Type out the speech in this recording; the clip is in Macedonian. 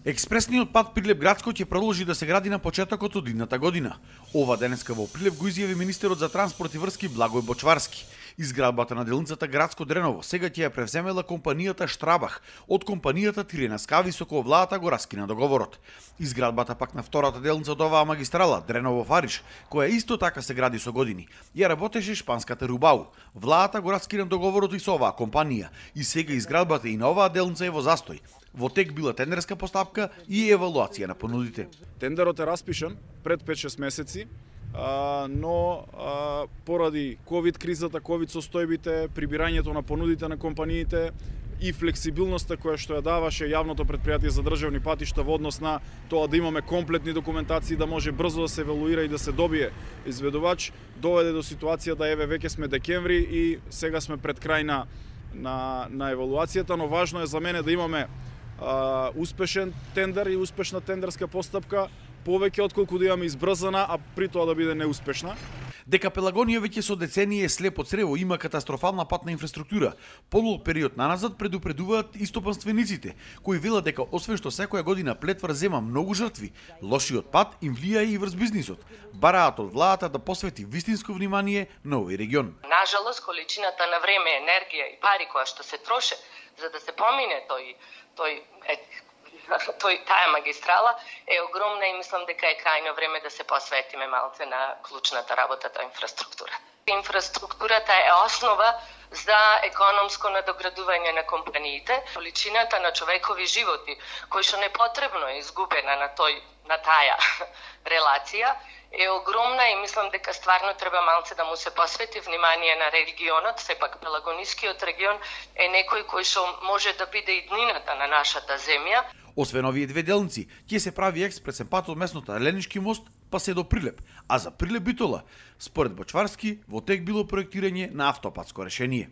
Експресниот пат Прилеп-Градско ќе продолжи да се гради на почетокот од идната година. Ова денеска во Прилеп го изјави министерот за транспорт и врски Благој Бочварски. Изградбата на делницата Градско-Дреново сега ќе ја превземела компанијата Штрабах од компанијата Тирена Скави со која владата го раскина договорот. Изградбата пак на втората делница од оваа магистрала Дреново-Фариш, која исто така се гради со години, ја работеше шпанската Рубау. Владата го раскина договорот и со оваа компанија и сега изградбата и на оваа делница е во застој. Во тек била тендерска постапка и евалуација на понудите. Тендерот е распишан пред 5-6 месеци, но поради ковид кризата, ковид состојбите, прибирањето на понудите на компаниите и флексибилноста која што ја даваше јавното претпријатие за државни патишта во однос на тоа да имаме комплетни документации, да може брзо да се евалуира и да се добие изведувач, доведе до ситуација да еве веќе сме декември и сега сме пред крај на евалуацијата, но важно е за мене да имаме успешен тендер и успешна тендерска постапка, повеќе отколку да имаме избрзана, а при тоа да биде неуспешна. Дека Пелагонија веќе со децении е слеп од црево, има катастрофална патна инфраструктура. Подолг период наназад предупредуваат истопанствениците, кои велат дека освен што секоја година Плетвар зема многу жртви, лошиот пат им влијае и врз бизнисот. Бараат од владата да посвети вистинско внимание на овој регион. Нажалост, количината на време, енергија и пари која што се троше за да се помине таа магистрала е огромна и мислам дека е крајно време да се посветиме малце на клучната работа на инфраструктура. Инфраструктурата е основа за економско надоградување на компаниите. Количината на човекови животи кои што непотребно е изгубена на таа релација е огромна и мислам дека стварно треба малце да му се посвети внимание на регионот. Сепак Пелагонискиот регион е некој кој што може да биде и днината на нашата земја. Освен овие две делници, ќе се прави експресен пат од местното Еленички мост па се до Прилеп, а за Прилеп Битола, според Бочварски, во тек било проектирање на автопатско решение.